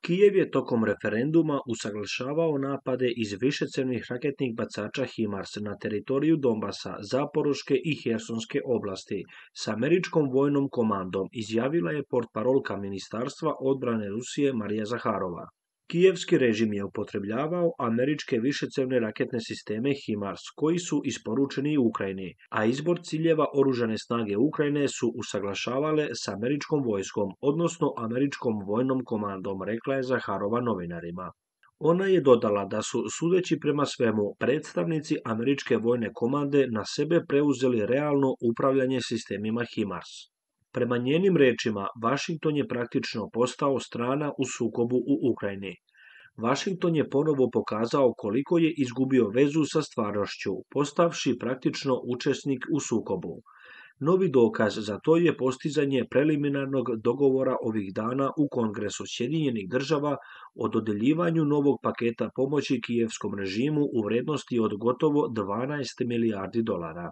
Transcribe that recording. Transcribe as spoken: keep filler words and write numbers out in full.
Kijev je tokom referenduma usaglašavao napade iz višecjevnih raketnih bacača HIMARS na teritoriju Donbasa, Zaporoške i Hersonske oblasti s američkom vojnom komandom, izjavila je portparolka Ministarstva odbrane Rusije Marija Zaharova. Kijevski režim je upotrebljavao američke višecjevne raketne sisteme HIMARS koji su isporučeni Ukrajini, a izbor ciljeva oružane snage Ukrajine su usaglašavale s američkom vojskom, odnosno američkom vojnom komandom, rekla je Zaharova novinarima. Ona je dodala da su, sudeći prema svemu, predstavnici američke vojne komande na sebe preuzeli realno upravljanje sistemima HIMARS. Prema njenim rečima, Vašington je praktično postao strana u sukobu u Ukrajini. Vašington je ponovo pokazao koliko je izgubio vezu sa stvarnošću, postavši praktično učesnik u sukobu. Novi dokaz za to je postizanje preliminarnog dogovora ovih dana u Kongresu Sjedinjenih država o dodeljivanju novog paketa pomoći kijevskom režimu u vrednosti od gotovo dvanaest milijardi dolara.